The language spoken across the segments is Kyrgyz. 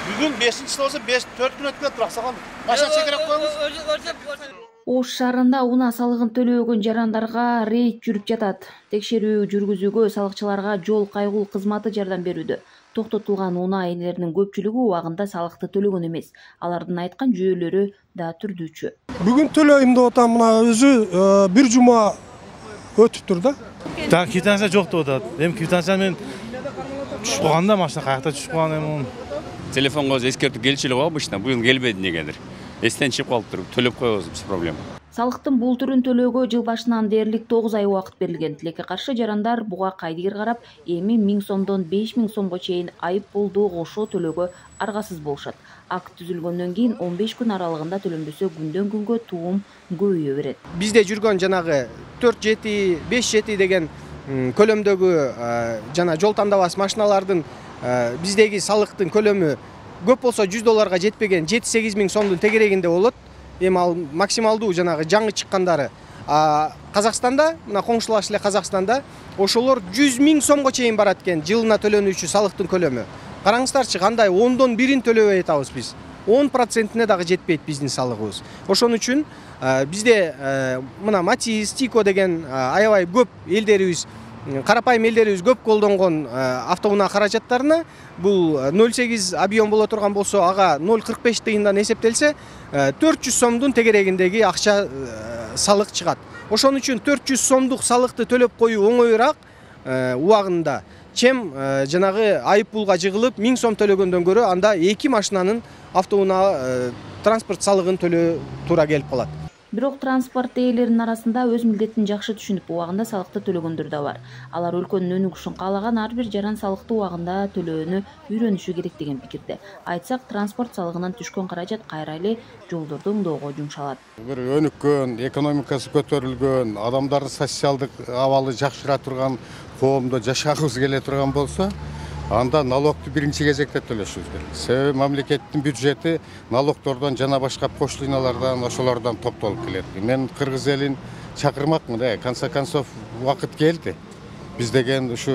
Бүгүн 5-чисил болсо 4 күн өткөн турак саган. Качан чекереп коебуз? Ош шаарында унаа салыгын төлөбөгөн жарандарга рейд жүрүп жатат. Текшерүү жүргүзүүгө салыкчыларга жол кайгул кызматы жардам берүүдө. Токтотулган унаа ээлеринин көпчүлүгү убагында салыкты төлөгөн эмес. Алардын айткан жүйөлөрү да түрдүүчү. Бүгүн төлөйм деп атам, мына өзү бир жума өтүптүр да. Квитанция жок деп атат. Эми квитанция мен түшүп калганда машина каякта түшүп калган эми. Телефонго эскертүү келчү эле го обычно, быйыл келбеди негедир. Эстен чыгып калыптыр, төлөп коебуз, без проблем. Салыктын бул түрүн төлөөгө жыл башынан дээрлик 9 ай убакыт берилген. Тилекке каршы жарандар буга кайдыгер карап, эми 1000 сомдон 5000 сомго чейин айып пулду кошо төлөөгө аргасыз болушат. Акт түзүлгөндөн кийин 15 күн аралыгында төлөнбөсө күндөн күнгө туум көбөйө берет. Бизде жүргөн жанагы 4-7, 5-7 деген көлөмдөгү жана жол тандабас машиналардын биздеги салыктын көлөмү көп болсо $100 жетпеген 7-8 миң сомдун тегерегинде болот. Эми ал максималдуу жанагы жаңы чыккандары. Казакстанда, мына коңшулаш эле Казакстанда ошолор 100 миң сомго чейин барат экен жылына төлөнүүчү салыктын көлөмү. Караңыздарчы, кандай 10дон 1-ин төлөбөй атабыз биз. 10%-не дагы жетпейт биздин салыгыбыз. Ошон үчүн бизде мына Матис, Тико деген аябай көп элдерибиз, карапайым элдерибиз көп колдонгон автоунаа каражаттарына бул 0,8 объем боло турган болсо, ага 0,45 тыйындан эсептелсе, 400 сомдун тегерегиндеги акча салык чыгат. Ошон үчүн 400 сомдук салыкты төлөп коюу оңоюраак убагында, чем жанагы айып пулга жыгылып 1000 сом төлөгөндөн көрө анда 2 машинанын автоунаа транспорт салыгын төлөө туура келип калат. Бирок транспорт ээлеринин арасында өз милдетин жакшы түшүнүп, убагында салыкты төлөгөндөр да бар. Алар өлкөнүн өнүгүшүн каалаган ар бир жаран салыкты убагында төлөөнү үйрөнүшү керек деген пикирде. Айтсак, транспорт салыгынан түшкөн каражат кайра эле жолдорду оңдоого жумшалат. Бир өнүккөн, экономикасы көтөрүлгөн, адамдардын социалдык абалы жакшыра турган коомдо жашагыбыз келе турган болсо, анда налогду биринчи кезекте төлөшүбүз керек. Себеби мамлекеттин бюджети налогтордон жана башка пошлиналардан, ошолордон топтолуп келет. Мен кыргыз элин чакырмакмын, конце концов убакыт келди. Биз деген ушу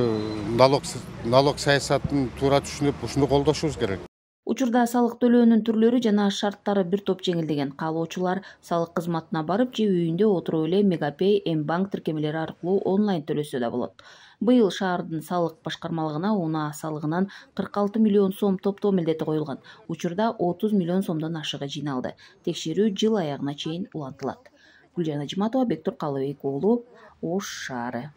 налог саясатын туура түшүнүп, ушуну колдошубуз керек. Учурда салык төлөөнүн түрлөрү жана шарттары бир топ жеңилдеген. Каалоочулар салык кызматына барып же үйүндө отуруп эле Мегапей, М-банк тиркемелери аркылуу онлайн төлөсө да болот. Быйыл шаардын салык башкармалыгына унаа салыгынан 46 миллион сом топтоо милдети коюлган. Учурда 30 миллион сомдон ашыгы жыйналды. Текшерүү жыл аягына чейин улантылат. Гүлжан Ажиматова, Бектур Калыбек уулу, Ош шаары.